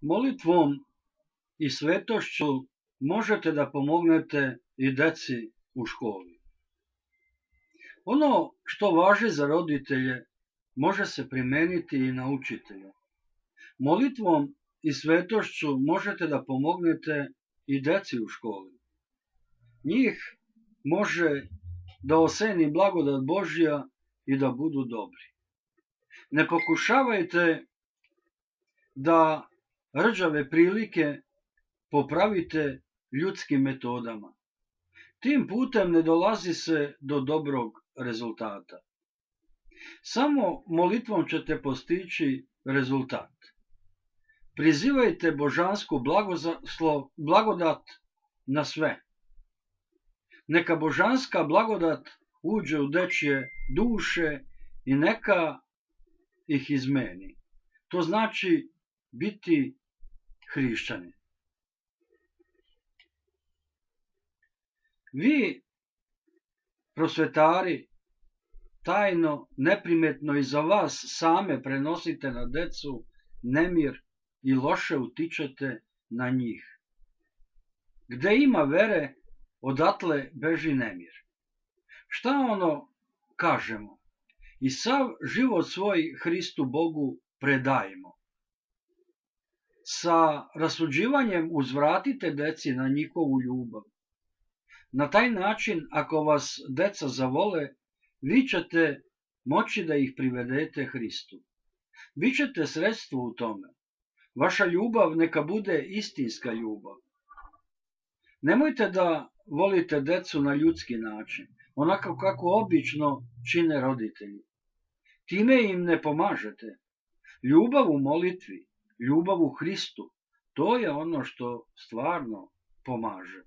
Molitvom i svetošću možete da pomognete i deci u školi. Ono što važi za roditelje može se primeniti i na učitelje. Molitvom i svetošću možete da pomognete i deci u školi. Njih može da oseni blagodat Božja i da budu dobri. Ne pokušavajte da rđave prilike popravite ljudskim metodama. Tim putem ne dolazi se do dobrog rezultata. Samo molitvom ćete postići rezultat. Prizivajte božansku blagodat na sve. Neka božanska blagodat uđe u dečje duše i neka ih izmeni. To znači biti hrišćani. Vi, prosvetari, tajno, neprimetno i za vas same prenosite na decu nemir i loše utičete na njih. Gde ima vere, odatle beži nemir. Šta ono kažemo? I sav život svoj Hristu Bogu predajemo. Sa rasuđivanjem uzvratite deci na njihovu ljubav. Na taj način, ako vas deca zavole, vi ćete moći da ih privedete Hristu. Vi ćete sredstvo u tome. Vaša ljubav neka bude istinska ljubav. Nemojte da volite decu na ljudski način, onako kako obično čine roditelji. Time im ne pomažete. Ljubav u molitvi, ljubav u Hristu, to je ono što stvarno pomaže.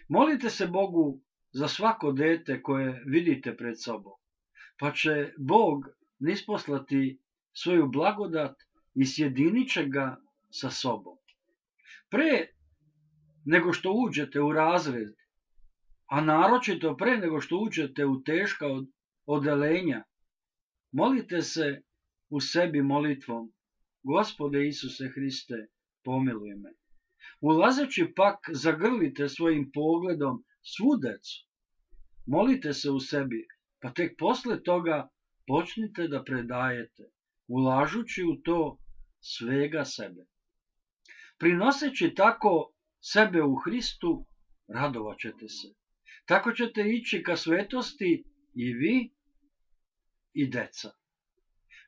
Molite se Bogu za svako dete koje vidite pred sobom, pa će Bog nisposlati svoju blagodat i sjedinit će ga sa sobom. Pre nego što uđete u razred, a naročito pre nego što uđete u teška odelenja, molite se u sebi molitvom: Gospode Isuse Hriste, pomiluj me. Ulazeći pak, zagrlite svojim pogledom svu decu. Molite se u sebi, pa tek posle toga počnite da predajete, ulažući u to svega sebe. Prinoseći tako sebe u Hristu, radovat ćete se. Tako ćete ići ka svetosti i vi i deca.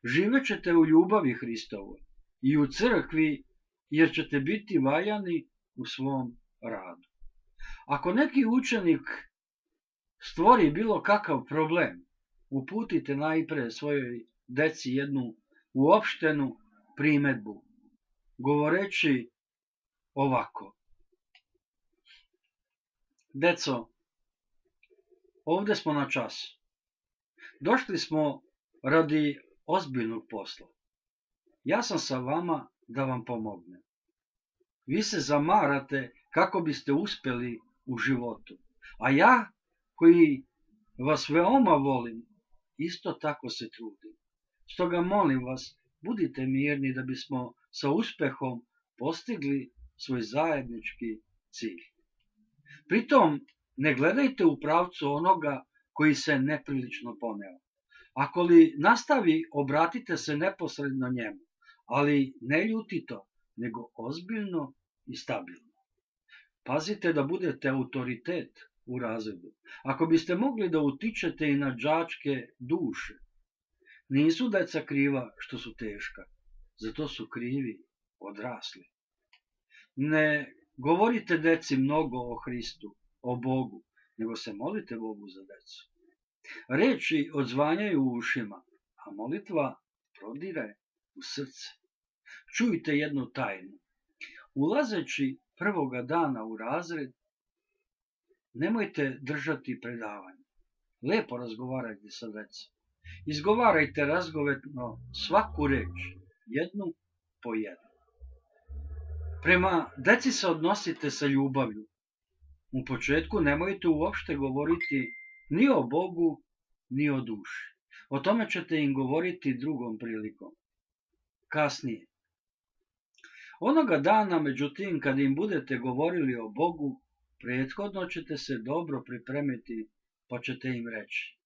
Živećete u ljubavi Hristovoj i u crkvi, jer ćete biti valjani u svom radu. Ako neki učenik stvori bilo kakav problem, uputite najpre svojoj deci jednu uopštenu primedbu, govoreći ovako: Deco, ovde smo na čas. Došli smo radi ozbiljnog posla. Ja sam sa vama da vam pomognem. Vi se zamarate kako biste uspeli u životu, a ja, koji vas veoma volim, isto tako se trudim. Stoga molim vas, budite mirni da bismo sa uspehom postigli svoj zajednički cilj. Pritom, ne gledajte u pravcu onoga koji se neprilično poneo. Ako li nastavi, obratite se neposredno njemu, ali ne ljutito, nego ozbiljno i stabilno. Pazite da budete autoritet u razredu. Ako biste mogli da utičete i na đačke duše, nisu deca kriva što su teška, zato su krivi odrasli. Ne govorite deci mnogo o Hristu, o Bogu, nego se molite Bogu za decu. Reči odzvanjaju u ušima, a molitva prodire u srce. Čujte jednu tajnu. Ulazeći prvoga dana u razred, nemojte držati predavanje. Lepo razgovarajte sa decom. Izgovarajte razgovetno svaku reč, jednu po jednu. Prema deci se odnosite sa ljubavlju. U početku nemojte uopšte govoriti ni o Bogu, ni o duši. O tome ćete im govoriti drugom prilikom. Kasnije. Onoga dana, međutim, kad im budete govorili o Bogu, prethodno ćete se dobro pripremiti, pa ćete im reći.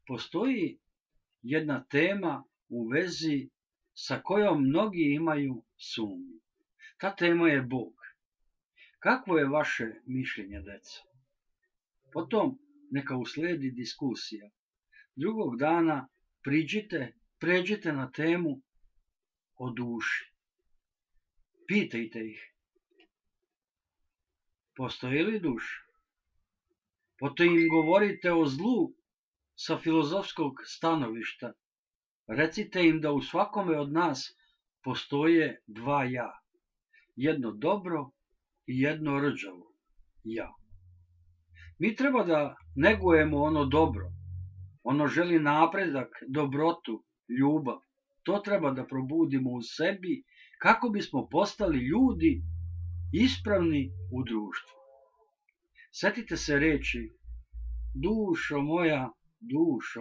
Postoji jedna tema u vezi sa kojom mnogi imaju sumnju. Ta tema je Bog. Kakvo je vaše mišljenje, deco? Potom neka usledi diskusija. Drugog dana pređite na temu o duši. Pitajte ih. Postoji li duša? Potom im govorite o zlu sa filozofskog stanovišta. Recite im da u svakome od nas postoje dva ja. Jedno dobro i jedno rđavo ja. Mi treba da negujemo ono dobro. Ono želi napredak, dobrotu, ljubav. To treba da probudimo u sebi kako bismo postali ljudi ispravni u društvu. Sjetite se reči: dušo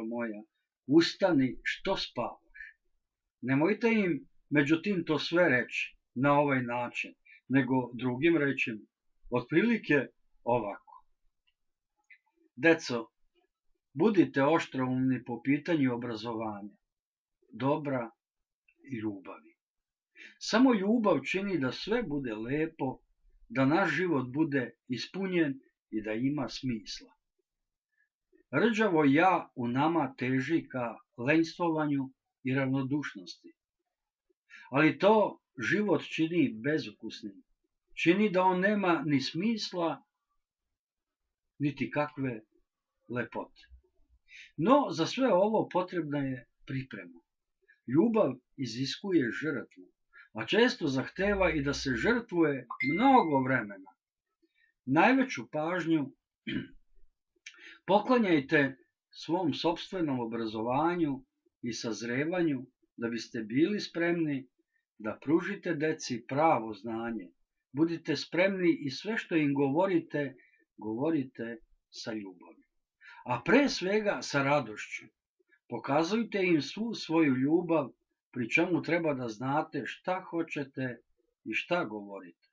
moja, ustani, što spavaš. Nemojte im međutim to sve reći na ovaj način, nego drugim rečima, otprilike ovako. Deco, budite oštroumni po pitanju obrazovanja, dobra i ljubavi. Samo ljubav čini da sve bude lepo, da naš život bude ispunjen i da ima smisla. Rđavo ja u nama teži ka lenjstvovanju i ravnodušnosti. Ali to život čini bezukusnim. Čini da on nema ni smisla, niti kakve lepote. No, za sve ovo potrebna je priprema. Ljubav iziskuje žrtvu, a često zahteva i da se žrtvuje mnogo vremena. Najveću pažnju poklanjajte svom sopstvenom obrazovanju i sazrevanju da biste bili spremni da pružite deci pravo znanje. Budite spremni i sve što im govorite sa ljubavlju. A pre svega sa radošću. Pokazujte im svu svoju ljubav, pri čemu treba da znate šta hoćete i šta govorite.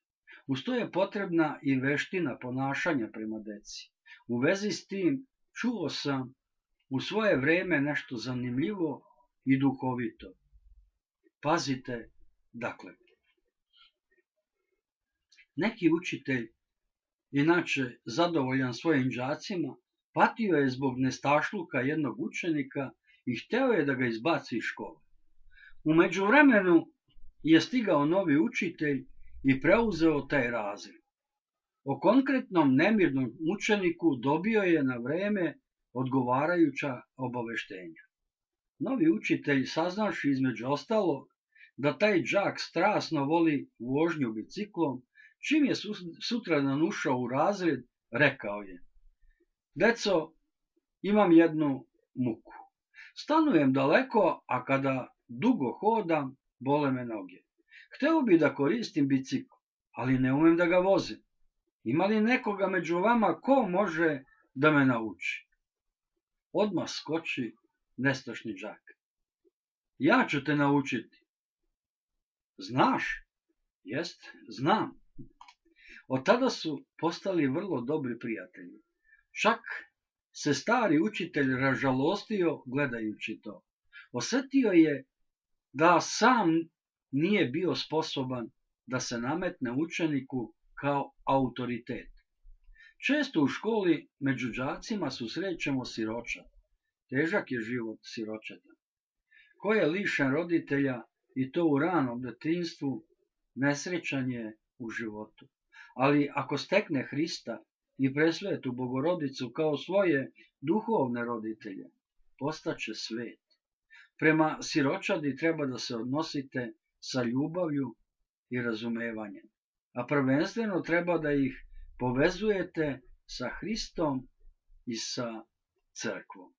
Uz to je potrebna i veština ponašanja prema deci. U vezi s tim čuo sam u svoje vreme nešto zanimljivo i duhovito. Pazite, dakle. Neki učitelj, inače zadovoljan svojim đacima, patio je zbog nestašluka jednog učenika i hteo je da ga izbaci iz škole. U međuvremenu je stigao novi učitelj i preuzeo taj razred. O konkretnom nemirnom učeniku dobio je na vreme odgovarajuća obaveštenja. Novi učitelj, saznavši između ostalog da taj đak strasno voli vožnju biciklom, čim je sutradan ušao u razred, rekao je: deco, imam jednu muku. Stanujem daleko, a kada dugo hodam, bole me noge. Hteo bi da koristim bicikl, ali ne umem da ga vozim. Ima li nekoga među vama ko može da me nauči? Odmah skoči nestašni đak. Ja ću te naučiti. Znaš? Jest, znam. Od tada su postali vrlo dobri prijatelji. Čak se stari učitelj ražalostio gledajući to. Osetio je da sam nije bio sposoban da se nametne učeniku kao autoritet. Često u školi među đacima susrećemo siročad. Težak je život siročeta. Ko je lišen roditelja i to u ranom detinjstvu, nesrećan je u životu. Ali ako stekne Hrista i presvetu Bogorodicu kao svoje duhovne roditelje, postaće svet. Prema siročadi treba da se odnosite sa ljubavlju i razumevanjem, a prvenstveno treba da ih povezujete sa Hristom i sa crkvom.